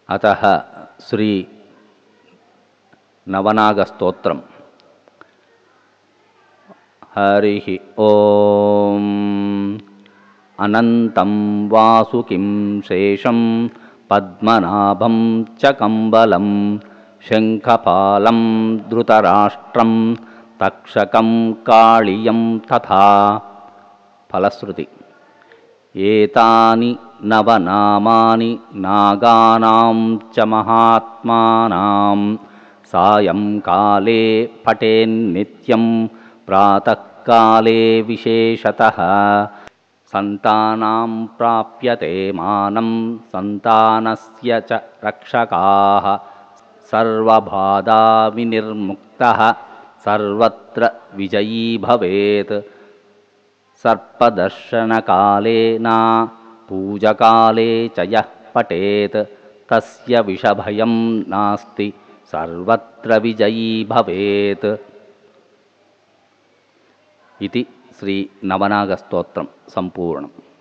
अतः श्री नवनागस्तोत्रम्। हरिः ओम्। अनन्तं वासुकिं शेषं पद्मनाभं च कम्बलं शङ्खपालं धृतराष्ट्रं तक्षकं काळियं तथा। फलश्रुति। एतानि नवनामानि नागानां च महात्मानां सायंकाले पठेन्नित्यं प्रातःकाले विशेषतः सन्तानां प्राप्यते मानं सन्तानस्य च रक्षकाः सर्वबाधा विनिर्मुक्तः सर्वत्र विजयी भवेत्। सर्पदर्शनकाले न पूजकाले च यः पठेत् तस्य विषभयं नास्ति सर्वत्र विजयी भवेत्। इति श्री नवनागस्तोत्रं सम्पूर्णम्।